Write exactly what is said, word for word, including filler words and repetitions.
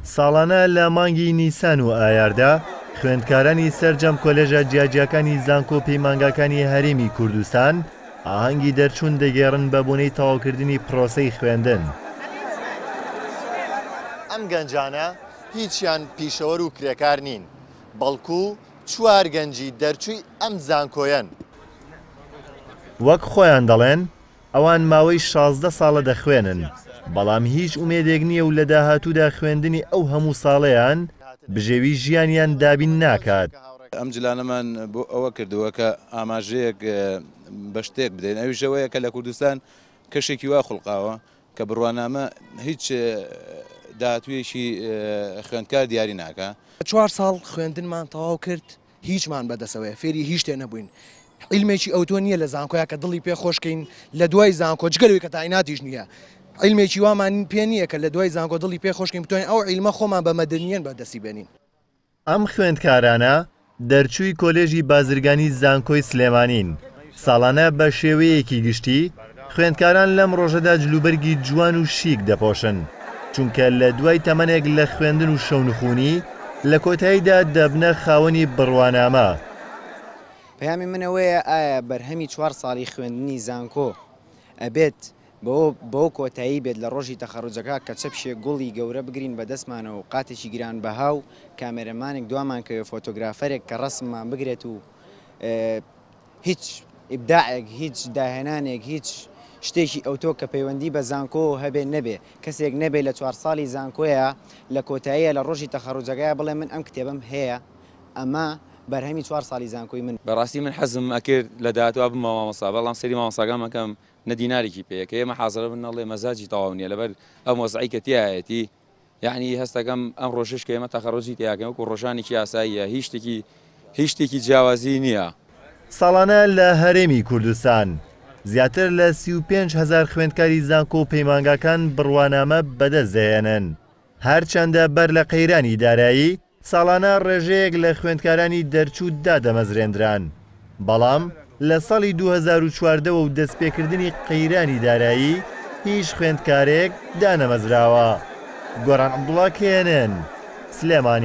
ساڵانە لە مانگی نیسان و ئایاردا خوێندکارانی سەرجەم کۆلێژە جیاجیاکانی زانکۆ پەیمانگاکانی هەرێمی کوردستان ئاهەنگی دەرچوون دەگێڕن بە بۆنەی تەواوکردنی پرۆسەی خوێندن. ئەم گەنجانە هیچیان پیشەوەر و کرێکار نین، بەڵکو چوار گەنجی دەرچووی ئەم زانکۆیەن. وەک خۆیان دەڵێن ئەوان ماوەی شازدە ساڵە دەخوێنن، بەڵام هیچ ئومێدێک نییە و لە داهاتوودا خوێندنی ئەو هەموو ساڵەیان بژێوی ژیانیان دابین ناکات. ئەم جلانەمان بۆ ئەوە کردووە کە ئاماژەیەک بە شتێک بدەین، ئەویش ئەوەیە کە لە کوردستان کەشێکی وا خوڵقاوە کە بڕوانامە هیچ داهاتوویەکی خوێندکار دیاری ناکە. چوار ساڵ خوێندنمان تەواو کرد، هیچمان بەدەسەوەیە، فێری هیچ شتێ نەبووین. عیلمێکی ئەوتۆ نییە لە زانکۆیا کە دڵی پێ خۆشکەین لە دوای زانکۆ، جگەلەوەی کە تایناتیش نییە، عیلمێکی وامان پێ نییە کە لە دوای زانکۆ دڵی پێ خۆشکەین بتوانین ئەو عیلمە خۆمان بە مەدەنیەن بەدەستی بێنین. ئەم خوێندکارانە دەرچووی کۆلێژی بازرگانی زانکۆی سلێمانین. ساڵانە بە شێوەیەکی گشتی خوێندکاران لەم ڕۆژەدا جلوبەرگی جوان و شیک دەپۆشن، چونکە لە دوای تەمەنێک لە خوێندن و شەونخونی لە کۆتاییدا دەبنە خاوەنی بڕوانامە. پەیامی منەوەیە ئایا بەرهەمی چوار ساڵی خوێندنی زانکۆ ئەبێت بەو کۆتایی بێت لە ڕۆژی تەخەڕوجەکە کە چەپشێک گوڵی گەورە بگرین بەدەستمانەوە و قاتێکی گرانبەها و کامێرەمانێک دوامان کەوێ فۆتۆگرافەرێک کە ڕەسممان بگرێت و هیچ ئیبداعێک، هیچ داهێنانێک، هیچ شتێکی ئەوتۆ کە پەیوەندی بە زانکۆ هەبێ نەبێ، کەسێک نەبێ لە چوار ساڵی زانکۆیە لە کۆتاییە لە ڕۆژی تەخەڕوجەکەیە بڵێ من ئەم کتێبم هەیە، ئەمە بەرهەمی چوار ساڵی زانکۆی من. بەڕاستی من حەزم ئەکرد لە داهاتوە بمە مامۆستا، بەڵام سەری مامۆستاکانمەکەم نە دینارێکی پێیە کە ئێمە حازرە بن نەڵێ مەزاجی تەواو نییە لەبەر ئەم وەزعی کە تیایەتی. یعنی هەستەکەم ئەم ڕۆژش کە ئێمە تەخەڕوجی تیاکەین وەکو ڕۆژانێکی ئاساییە، هیچ شتێکی هیچ شتێکی جیاوازی نییە. ساڵانە لە هەرێمی کوردستان زیاتر لە سی و پێنج هەزار خوێندکاری زانکۆ و پەیمانگاکان بڕوانامە بەدەست دەهێنن. هەرچەندە بەر لە قەیرانی دارایی ساڵانە ڕێژەیەک لە خوێندکارانی دەرچوو دادەمەزرێندران، بەڵام لە ساڵی دوو هەزار و چواردەوە و دەستپێکردنی قەیرانی دارایی هیچ خوێندکارێک دانەمەزراوە. گۆران عەبدوڵا، K N N، سلێمانی.